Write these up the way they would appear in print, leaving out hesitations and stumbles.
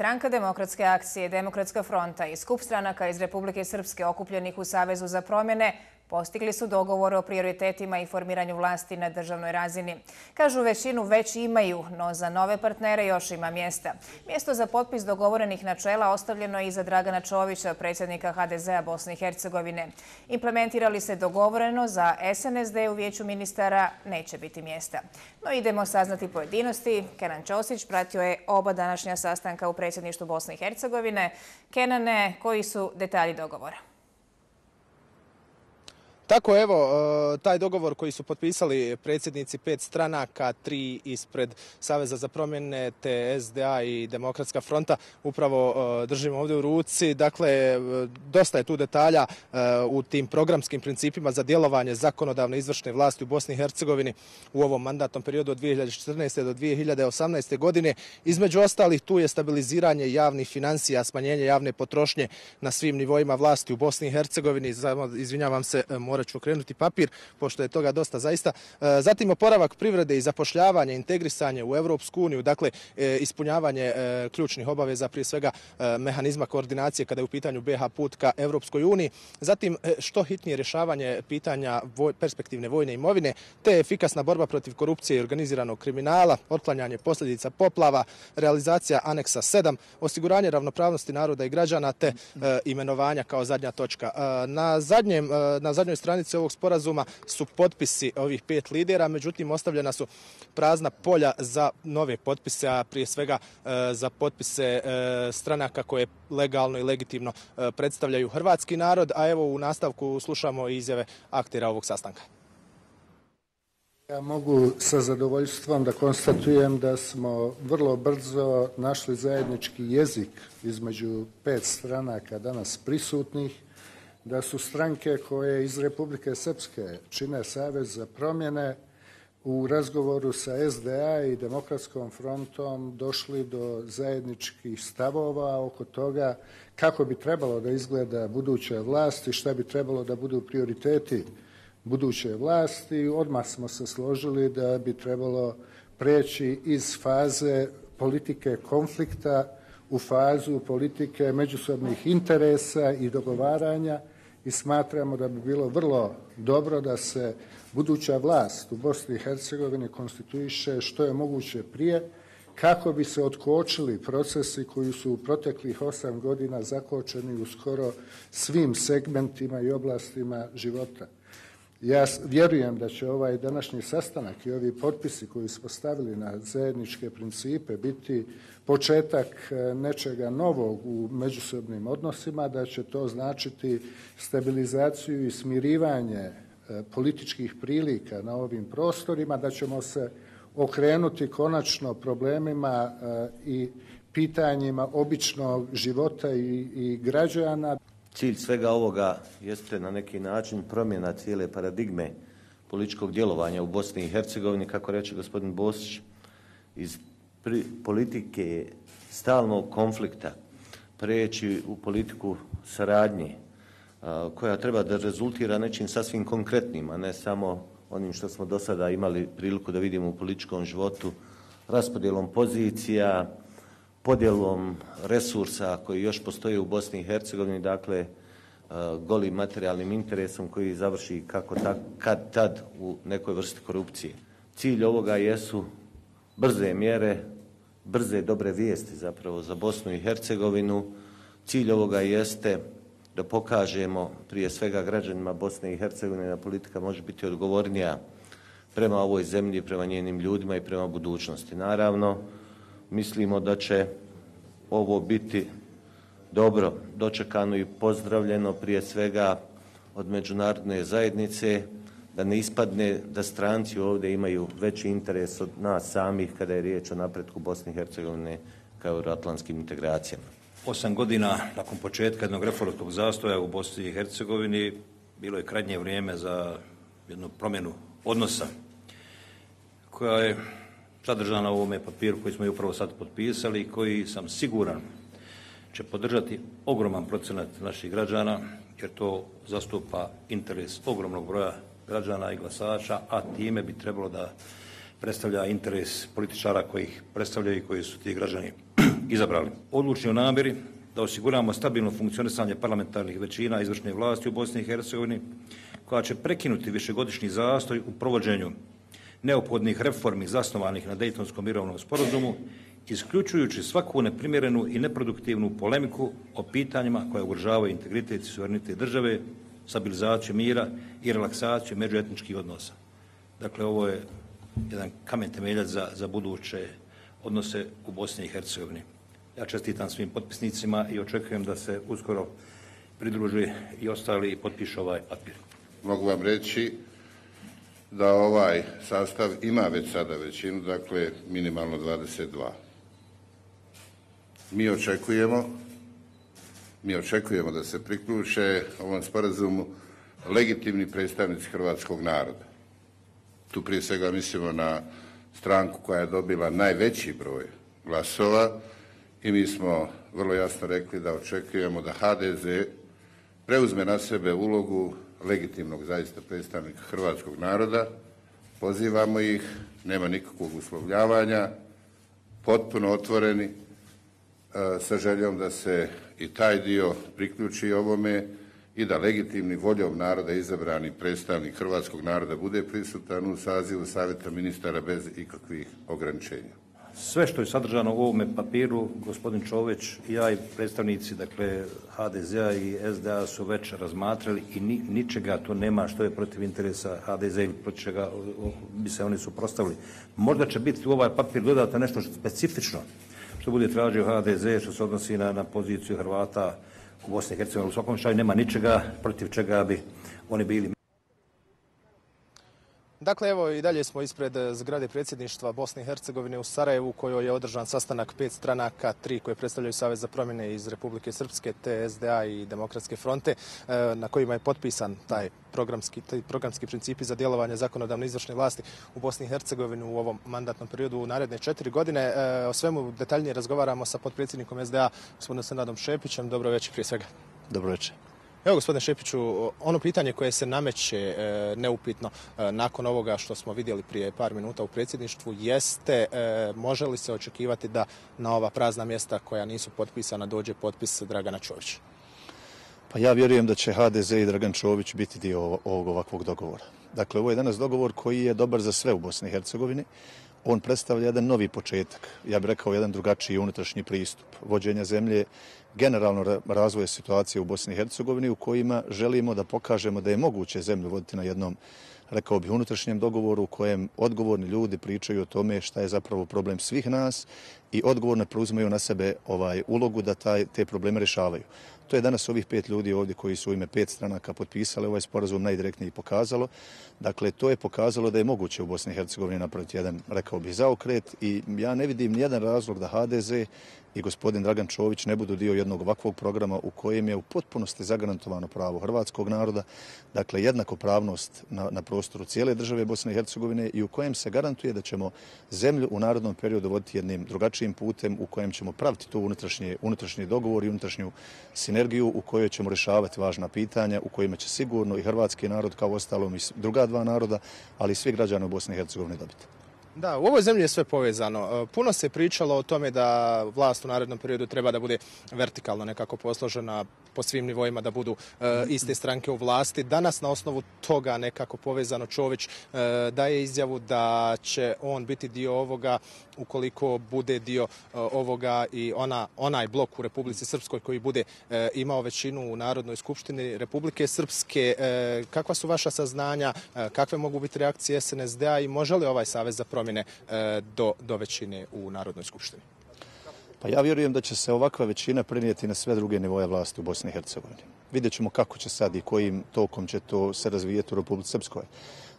Stranka demokratske akcije, Demokratska fronta i skup stranaka iz Republike Srpske okupljenih u Savezu za promjene postigli su dogovor o prioritetima i formiranju vlasti na državnoj razini. Kažu većinu već imaju, no za nove partnere još ima mjesta. Mjesto za potpis dogovorenih načela ostavljeno je i za Dragana Čovića, predsjednika HDZ-a Bosne i Hercegovine. Implementira li se dogovoreno, za SNSD u vijeću ministara neće biti mjesta. No idemo saznati pojedinosti. Kenan Ćosić pratio je oba današnja sastanka u predsjedništvu Bosne i Hercegovine. Kenane, koji su detalji dogovora? Tako, evo, taj dogovor koji su potpisali predsjednici 5 stranaka, 3 ispred Saveza za promjene, te SDA i Demokratska fronta, upravo držimo ovdje u ruci. Dakle, dosta je tu detalja u tim programskim principima za djelovanje zakonodavne izvršne vlasti u Bosni i Hercegovini u ovom mandatnom periodu od 2014. do 2018. godine. Između ostalih, tu je stabiliziranje javnih financija, smanjenje javne potrošnje na svim nivoima vlasti u Bosni i Hercegovini. Izvinjavam se, morat ću okrenuti papir, pošto je toga dosta zaista. Zatim oporavak privrede i zapošljavanje, integrisanje u Europsku uniju, dakle ispunjavanje ključnih obaveza, prije svega mehanizma koordinacije kada je u pitanju BiH put ka Europskoj uniji. Zatim što hitnije rješavanje pitanja perspektivne vojne imovine, te efikasna borba protiv korupcije i organiziranog kriminala, otklanjanje posljedica poplava, realizacija aneksa 7, osiguranje ravnopravnosti naroda i građana, te imenovanja kao zadnja točka. Na zadnjoj stranici ovog sporazuma su potpisi ovih 5 lidera, međutim ostavljena su prazna polja za nove potpise, a prije svega za potpise stranaka koje legalno i legitimno predstavljaju hrvatski narod, a evo u nastavku slušamo izjave aktera ovog sastanka. Ja mogu sa zadovoljstvom da konstatujem da smo vrlo brzo našli zajednički jezik između 5 stranaka danas prisutnih, da su stranke koje iz Republike Srpske čine Savez za promjene u razgovoru sa SDA i Demokratskom frontom došli do zajedničkih stavova oko toga kako bi trebalo da izgleda buduća vlast i šta bi trebalo da budu prioriteti buduće vlasti. Odmah smo se složili da bi trebalo preći iz faze politike konflikta u fazu politike međusobnih interesa i dogovaranja i smatramo da bi bilo vrlo dobro da se buduća vlast u Bosni i Hercegovini konstituiše što je moguće prije kako bi se otkočili procesi koji su u proteklih 8 godina zakočeni u skoro svim segmentima i oblastima života. Ja vjerujem da će ovaj današnji sastanak i ovi potpisi koji smo stavili na zajedničke principe biti početak nečega novog u međusobnim odnosima, da će to značiti stabilizaciju i smirivanje političkih prilika na ovim prostorima, da ćemo se okrenuti konačno problemima i pitanjima običnog života i građana. Cilj svega ovoga jeste na neki način promjena cijele paradigme političkog djelovanja u Bosni i Hercegovini, kako reče gospodin Bosić, iz politike stalnog konflikta preći u politiku saradnje koja treba da rezultira nečim sasvim konkretnim, a ne samo onim što smo do sada imali priliku da vidimo u političkom životu, raspodjelom pozicija, podjelom resursa koji još postoje u Bosni i Hercegovini, dakle golim materijalnim interesom koji završi kad tad u nekoj vrsti korupcije. Cilj ovoga jesu brze mjere, brze dobre vijesti zapravo za Bosnu i Hercegovinu. Cilj ovoga jeste da pokažemo prije svega građanima Bosne i Hercegovine da politika može biti odgovornija prema ovoj zemlji, prema njenim ljudima i prema budućnosti. Naravno, mislimo da će ovo biti dobro dočekano i pozdravljeno prije svega od međunarodne zajednice, da ne ispadne da stranci ovdje imaju veći interes od nas samih kada je riječ o napretku Bosne i Hercegovine kao euroatlantskim integracijama. 8 godina nakon početka jednog reformskog zastoja u Bosni i Hercegovini bilo je krajnje vrijeme za jednu promjenu odnosa koja je sadržana u ovome papiru koji smo upravo sad potpisali i koji sam siguran će podržati ogroman procenat naših građana jer to zastupa interes ogromnog broja građana i glasača, a time bi trebalo da predstavlja interes političara koji ih predstavljaju i koji su ti građani izabrali. Odlučni o namjeri da osiguramo stabilno funkcionisanje parlamentarnih većina izvršne vlasti u Bosni i Hercegovini, koja će prekinuti višegodišnji zastoj u provođenju neophodnih reformi zasnovanih na Dejtonskom mirovnom sporazumu, isključujući svaku neprimjerenu i neproduktivnu polemiku o pitanjima koja ugrožavaju integritet i suverenitet države, stabilizaciju mira i relaksaciju međuetničkih odnosa. Dakle, ovo je jedan kamen temeljac za buduće odnose u Bosni i Hercegovini. Ja čestitam svim potpisnicima i očekujem da se uskoro pridruži i ostali i potpišu ovaj papir. Mogu vam reći da ovaj sastav ima već sada većinu, dakle minimalno 22. Mi očekujemo da se priključe ovom sporazumu legitimni predstavnici hrvatskog naroda. Tu prije svega mislimo na stranku koja je dobila najveći broj glasova i mi smo vrlo jasno rekli da očekujemo da HDZ preuzme na sebe ulogu legitimnog zaista predstavnika hrvatskog naroda. Pozivamo ih, nema nikakvog uslovljavanja, potpuno otvoreni, sa željom da se i taj dio priključi ovome i da legitimni voljom naroda izabrani predstavnik hrvatskog naroda bude prisutan u sazivu Savjeta ministara bez ikakvih ograničenja. Sve što je sadržano u ovome papiru, gospodin Čović i ja i predstavnici, dakle, HDZ-a i SDA su već razmatrali i ničega to nema što je protiv interesa HDZ ili protiv čega bi se oni suprotstavili. Možda će biti u ovaj papir dodato nešto specifično što bude tražio HDZ, što se odnosi na poziciju Hrvata u Bosni i Hercegovini. U svakom slučaju nema ničega protiv čega bi oni bili. Dakle, evo i dalje smo ispred zgrade predsjedništva Bosne i Hercegovine u Sarajevu, u kojoj je održan sastanak 5 stranaka, 3 koje predstavljaju Savez za promjene iz Republike Srpske, te SDA i Demokratske fronte, na kojima je potpisan taj programski principi za djelovanje zakonodavne izvršne vlasti u Bosni i Hercegovini u ovom mandatnom periodu u naredne 4 godine. O svemu detaljnije razgovaramo sa potpredsjednikom SDA, gospodinom Senadom Šepićem. Dobro večer prije svega. Dobro večer. Evo, gospodine Šepiću, ono pitanje koje se nameće neupitno nakon ovoga što smo vidjeli prije par minuta u predsjedništvu jeste može li se očekivati da na ova prazna mjesta koja nisu potpisana dođe potpis Dragana Čovića? Pa ja vjerujem da će HDZ i Dragan Čović biti dio ovog ovakvog dogovora. Dakle, ovo je danas dogovor koji je dobar za sve u Bosni i Hercegovini. On predstavlja jedan novi početak, ja bih rekao jedan drugačiji unutrašnji pristup vođenja zemlje, generalno razvoja situacije u Bosni i Hercegovini u kojima želimo da pokažemo da je moguće zemlju voditi na jednom, rekao bih, unutrašnjem dogovoru u kojem odgovorni ljudi pričaju o tome šta je zapravo problem svih nas i odgovorno preuzimaju na sebe ulogu da te probleme rješavaju. To je danas ovih 5 ljudi ovdje koji su u ime 5 stranaka potpisali ovaj sporazum najdirektnije pokazalo. Dakle, to je pokazalo da je moguće u Bosni i Hercegovini napraviti jedan, rekao bih, zaokret i ja ne vidim nijedan razlog da HDZ i gospodin Dragan Čović ne budu dio jednog ovakvog programa u kojem je u potpunosti zagarantovano pravo hrvatskog naroda, dakle jednakopravnost na prostoru cijele države Bosne i Hercegovine i u kojem se garantuje da ćemo zemlju u narodnom periodu voditi jednim drugačijim putem u kojem ćemo praviti tu unutrašnji dogovor i unutrašnju sinergiju u kojoj ćemo rješavati važna pitanja, u kojima će sigurno i hrvatski narod kao ostalom i druga 2 naroda, ali i svi građani u Bosni i Hercegovini dobiti. Da, u ovoj zemlji je sve povezano. Puno se pričalo o tome da vlast u narednom periodu treba da bude vertikalno nekako posložena po svim nivoima, da budu iste stranke u vlasti. Danas na osnovu toga nekako povezano Čović daje izjavu da će on biti dio ovoga ukoliko bude dio ovoga i onaj blok u Republici Srpskoj koji bude imao većinu u Narodnoj skupštini Republike Srpske. Kakva su vaša saznanja, kakve mogu biti reakcije SNSD-a i može li ovaj Savez za promjene do većine u Narodnoj skupštini? Pa ja vjerujem da će se ovakva većina prenijeti na sve druge nivoje vlasti u Bosni i Hercegovini. Vidjet ćemo kako će sad i kojim tokom će to se razvijeti u Republici Srpskoj.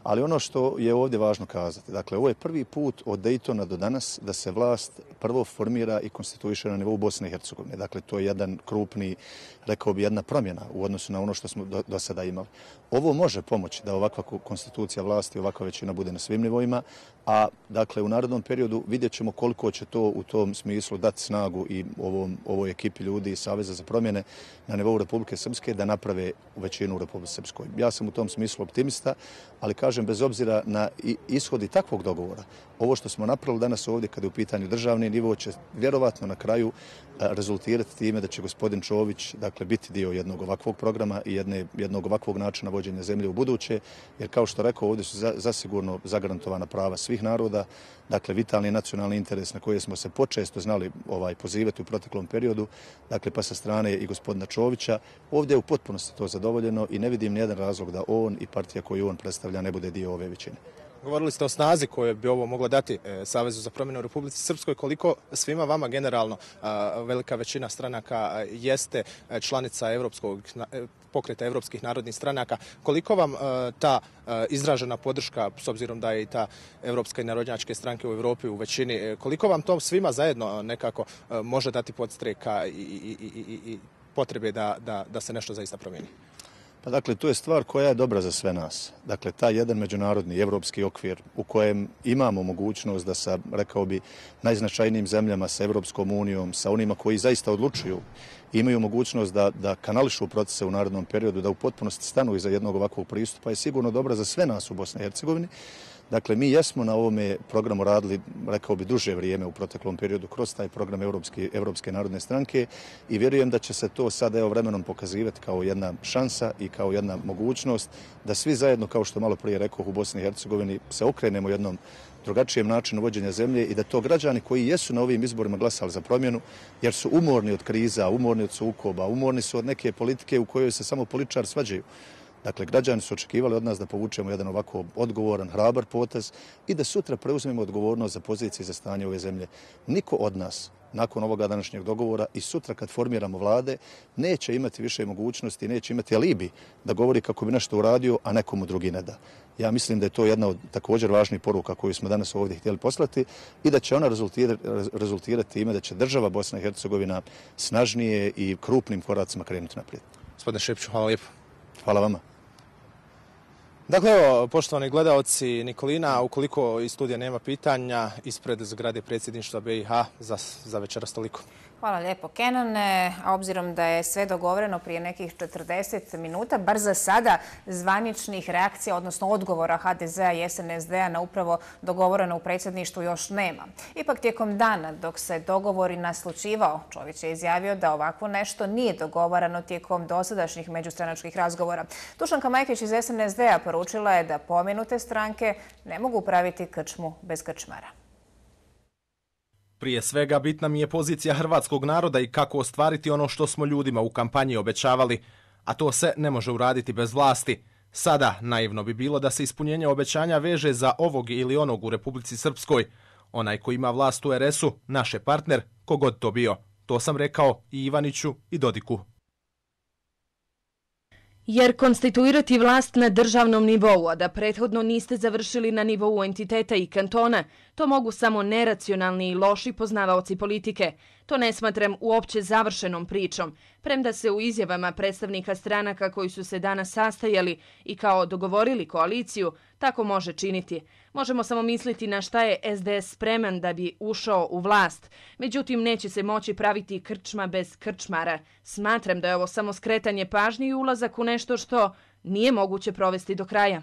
Ali ono što je ovdje važno kazati, dakle, ovo je prvi put od Dejtona do danas da se vlast prvo formira i konstituiše na nivou Bosne i Hercegovine. Dakle, to je jedan krupni, rekao bi, jedna promjena u odnosu na ono što smo do sada imali. Ovo može pomoći da ovakva konstitucija vlasti, ovakva većina bude na svim nivoima, a dakle u narednom periodu vidjet ćemo koliko će to u tom smislu dati snagu i ovoj ekipi ljudi iz Saveza za promjene na nivou Republike Srpske da naprave većinu u Republike Srpskoj. Ja sam u tom smislu optimista, ali kažem bez obzira na ishodi takvog dogovora, ovo što smo napravili danas ovdje kada je u pitanju državni nivo će vjerovatno na kraju rezultirati time da će gospodin Čović dakle, biti dio jednog ovakvog programa i jednog ovakvog načina vođenja zemlje u buduće, jer kao što rekao, ovdje su zasigurno zagarantovana prava svih naroda, dakle vitalni nacionalni interes na koje smo se počesto znali pozivati u proteklom periodu, dakle pa sa strane i gospodina Čovića, ovdje je u potpunosti to zadovoljeno i ne vidim nijedan razlog da on i partija koju on predstavlja ne bude dio ove većine. Govorili ste o snazi koje bi ovo moglo dati Savezu za promjenu u Republici Srpskoj. Koliko svima vama generalno velika većina stranaka jeste članica pokreta evropskih narodnih stranaka, koliko vam ta izražena podrška, s obzirom da je i ta evropska i narodnjačke stranke u Europi u većini, koliko vam to svima zajedno nekako može dati podstreka i potrebe da se nešto zaista promijeni? Pa dakle, to je stvar koja je dobra za sve nas. Dakle, taj jedan međunarodni evropski okvir u kojem imamo mogućnost da sa, rekao bi, najznačajnijim zemljama, sa Evropskom unijom, sa onima koji zaista odlučuju, imaju mogućnost da kanališu procese u narednom periodu, da u potpunosti stanu iza jednog ovakvog pristupa, je sigurno dobra za sve nas u Bosni i Hercegovini. Dakle, mi jesmo na ovome programu radili, rekao bi, duže vrijeme u proteklom periodu kroz taj program Evropske narodne stranke i vjerujem da će se to sad vremenom pokazivati kao jedna šansa i kao jedna mogućnost da svi zajedno, kao što malo prije rekao, u Bosni i Hercegovini se okrenemo jednom drugačijem načinu vođenja zemlje i da to građani koji jesu na ovim izborima glasali za promjenu, jer su umorni od kriza, umorni od sukoba, umorni su od neke politike u kojoj se samo političari svađaju. Dakle, građani su očekivali od nas da povučemo jedan ovako odgovoran, hrabar potez i da sutra preuzmemo odgovornost za pozicije i za stanje ove zemlje. Niko od nas, nakon ovoga današnjeg dogovora i sutra kad formiramo vlade, neće imati više mogućnosti, neće imati alibi da govori kako bi nešto uradio, a nekomu drugi ne da. Ja mislim da je to jedna od također važnih poruka koju smo danas ovdje htjeli poslati i da će ona rezultirati time da će država Bosna i Hercegovina snažnije i krupnim koracima krenuti naprijed. Gospodine Šepću, hvala lijepo. Hvala vama. Dakle, evo, poštovani gledaoci Nikolina, ukoliko iz studija nema pitanja, ispred zgrade predsjedništva BiH za večeras toliko. Hvala lijepo, Kenane. A obzirom da je sve dogovoreno prije nekih 40 minuta, bar za sada zvaničnih reakcija, odnosno odgovora HDZ-a i SNSD-a na upravo dogovoreno u predsjedništvu još nema. Ipak tijekom dana, dok se dogovori naslućivao, Čović je izjavio da ovako nešto nije dogovarano tijekom dosadašnjih međustranačkih razgovora. Dušanka Majkić iz SNSD-a poručila je da pomenute stranke ne mogu praviti krčmu bez krčmara. Prije svega bitna mi je pozicija hrvatskog naroda i kako ostvariti ono što smo ljudima u kampanji obećavali, a to se ne može uraditi bez vlasti. Sada naivno bi bilo da se ispunjenje obećanja veže za ovog ili onog u Republici Srpskoj. Onaj ko ima vlast u RS-u, naš je partner, kogod to bio. To sam rekao i Ivaniću i Dodiku. Jer konstituirati vlast na državnom nivou, a da prethodno niste završili na nivou entiteta i kantona, to mogu samo neracionalni i loši poznavaoci politike. To ne smatram uopće završenom pričom, premda se u izjavama predstavnika stranaka koji su se danas sastajali i kao dogovorili koaliciju, tako može činiti. Možemo samo misliti na šta je SDS spreman da bi ušao u vlast. Međutim, neće se moći praviti krčma bez krčmara. Smatram da je ovo samo skretanje pažnje i ulazak u nešto što nije moguće provesti do kraja.